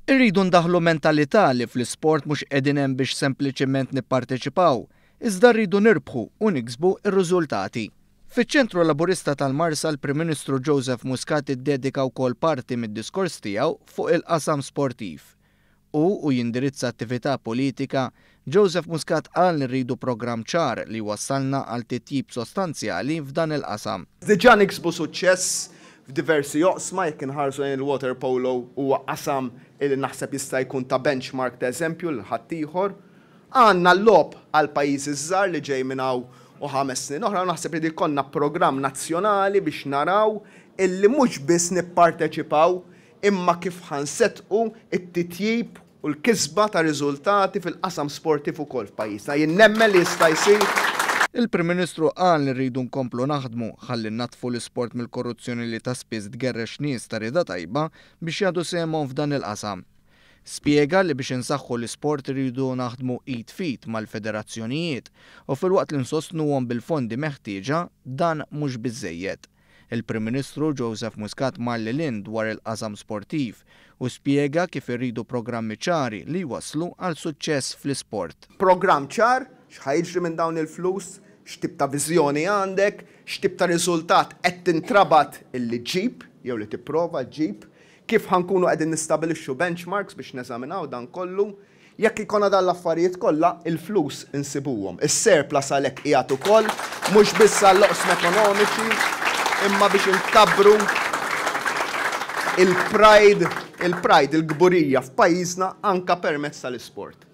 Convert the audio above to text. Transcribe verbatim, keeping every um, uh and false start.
Irridu ndaħlu mentalità li fl-isport mhux qegħdin hemm biex sempliċement nipparteċipaw, iżda rridu nirbħu u niksbu r-riżultati. Fiċ-Ċentru Laburista tal-Marsa, l-Prim Ministru Joseph Muscat iddedika wkoll parti mid-diskors tiegħu fuq il-qasam sportiv. U u jindirizza attività politika, Joseph Muscat qal li rridu programm ċar li wassalna għal titjib sostanzjali f'dan il-qasam. Diġà niksbu suċċess f'diversi oqsma. Jekk inħarsu lejn il-water polo, huwa qasam li naħseb jista' jkun ta' benchmark, ta' eżempju lil ħaddieħor. Għandna l-Logħob għall-Pajjiżi żgħar li ġej minn hawn u ħames snin oħra, u naħseb li jkollna programm nazzjonali biex naraw illi mhux biss nipparteċipaw, imma kif ħa nsettqu it-titjib u l-kisba ta' riżultati fil-qasam sportiv ukoll f'pajjiżna. Jien nemmen li jista' jsir. Il-Prim Ministru qal li rridu nkomplu naħdmu ħalli natfu l-isport mill-korruzzjoni li ta' spiss tgerrex nies ta' rida tajba biex jagħtu sehemhom f'dan il-qasam. Spjega li biex insaħħu l-isport irridu naħdmu id f'id mal-federazzjonijiet u filwaqt li nsostnuhom bil-fondi meħtieġa, dan mhux biżejjed. Il-Prim Ministru Joseph Muscat mar lil hinn dwar il-qasam sportiv u spjega kif irridu programmi ċari li jwaslu għal suċċess fl-isport. Programm ċar, x'ħa jiġri minn dawn il-flus, x'tip ta' viżjoni għandek, x'tip ta' riżultat qed tintrabat illi ġib jew li tipprova ġib, kif ħa nkunu qegħdin nistabilixxu benchmarks biex neżaminaw dan kollu. Jekk ikollna dan l-affarijiet kollha, il-flus insibuhom. Is-surplus għalhekk qiegħed ukoll mhux biss għall-oqsma ekonomiċi, imma biex inkabbru il-pride, il-pride, il-kburija f'pajjiżna anka permezz tal-isport.